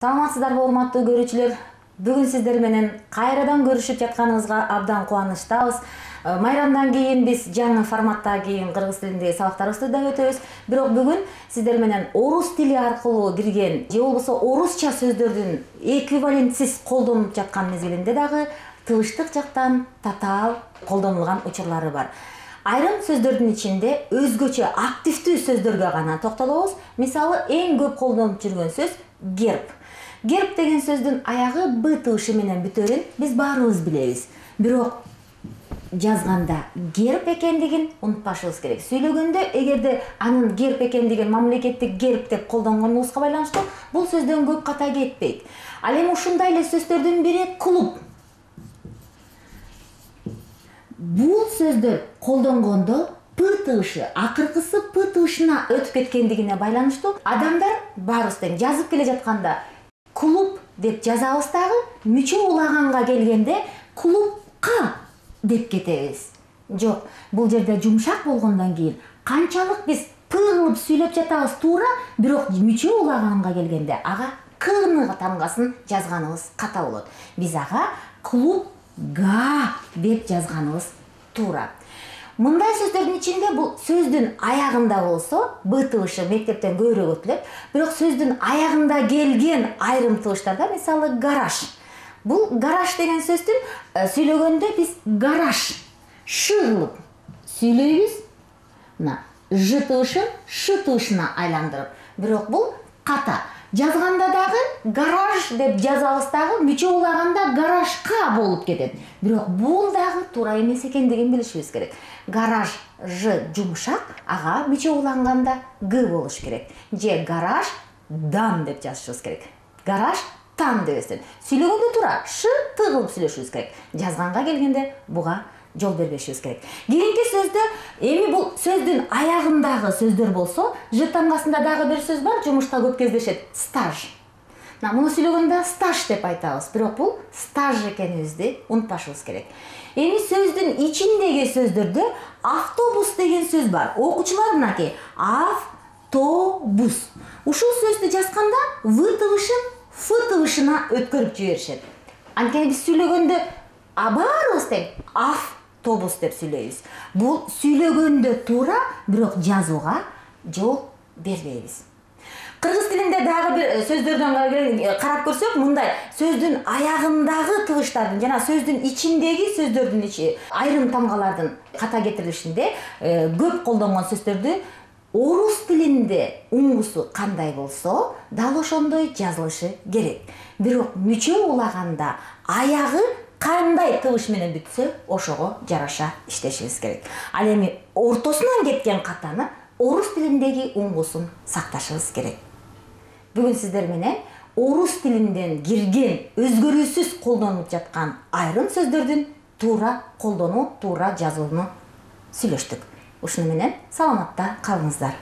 Саламатсыздарбы урматтуу көрүүчүлөр? Бүгүн сиздер менен кайрадан көрүшүп жатканыбызга абдан кубанычтабыз. Майрамдан кийин биз жаңы форматта кыргыз тилиндеги сабактарыбызды да өтөбүз. Бирок бүгүн сиздер менен орус тили аркылуу кирген же болбосо орусча сөздөрдүн эквивалентсиз колдонулуп жаткан мезгилинде дагы тыбыштык жактан татаал колдонулган учурлары бар. Айрым сөздөрдүн ичинде өзгөчө активдүү сөздөргө гана токтолобуз. Мисалы, эң көп колдонуп жүргөн сөз герб. Герб деген сөздүн аягы б тыбышы менен бүтөрүн биз баарыбыз билебиз. Бирок жазганда герб экендигин унутпашыбыз керек. Сүйлөгөндө эгерде анын герб экендигин мамлекеттик герб деп колдонгонубузга байланыштуу бул сөздөн көп ката кетпейт. Ал эми ушундай эле сөздөрдүн бири клуб. Бул сөздөр колдонгондо п тыбышы, акыркысы п тыбышына өтүп кеткендигине байланыштуу адамдар баарыбыз тең жазып келе жатканда клуб деп жазабыз дагы, мүчө улаганга келгенде клубка деп кетебиз. Жок, бул жерде жумшак болгондон кийин канчалык биз п кылып сүйлөп жатабыз туура, бирок мүчө улаганга келгенде ага к-ны тамгасын жазганыбыз ката болот. Биз ага клубга деп жазганыбыз туура. Мындай сөздөрдүн ичинде бул сөздүн аягында болсо б тыбышы мектептен көбүрөөк өтүлөт, бирок сөздүн аягында келген айрым тыбыштарда, мисалы, гараж. Бул гараж деген сөздүн сүйлөгөндө биз гараж ш кылып сүйлөйбүз. Мына ж тыбышын ш тыбышына айландырып. Бирок бул ката. Жазганда дагы гараж деп жазабыз дагы, мүчө улаганда гаражка болуп кетет. Бирок бул дагы туура эмес экендигин билишибиз керек. Гараж ж жумшак, ага мүчө уланганда г болуш керек. Же гараж дан деп жазышыбыз керек. Гараж тан дебестен. Сүйлөгөндө туура ш т кылып сүйлөшүбүз керек. Жазганга келгенде буга жол бербешибиз керек. Кийинки сөздө эми бул сөздүн аягындагы сөздөр болсо, ж тамгасында дагы бир сөз бар, жумушта көп кездешет. Стаж. Муну сүйлөгөндө стаж деп айтабыз, бирок бул стаж экенибизди унутпашыбыз керек. Эми сөздүн ичиндеги сөздөрдө автобус деген сөз бар. Окуучулар мынакей автобус. Ушул сөздү жазганда в тыбышын ф тыбышына өткөрүп жиберишет. Анткени биз сүйлөгөндө баарыбыз тең автобус деп сүйлөйбүз. Бул сүйлөгөндө туура, бирок жазууга жол бербейбиз. Кыргыз тилинде дагы бир сөздөрдөн карап көрсөк, мындай сөздүн аягындагы тыбыштардын жана сөздүн ичиндеги сөздөрдүн айрым тамгалардын ката кетирилишинде көп колдонгон сөздөрдү орус тилинде уңгусу кандай болсо, дал ошондой жазылышы керек. Бирок мүчө улаганда аягы кандай тыбыш менен бүтсө, ошого жараша иштешибиз керек. Ал эми ортосунан кеткен катаны орус тилиндеги уңгусун сакташыбыз керек. Бүгүн сиздер менен орус тилинден кирген өзгөрүүсүз колдонулуп жаткан айрым сөздөрдүн туура колдонуу, туура жазууну сүйлөштүк. Ушуну менен саламатта калыңыздар.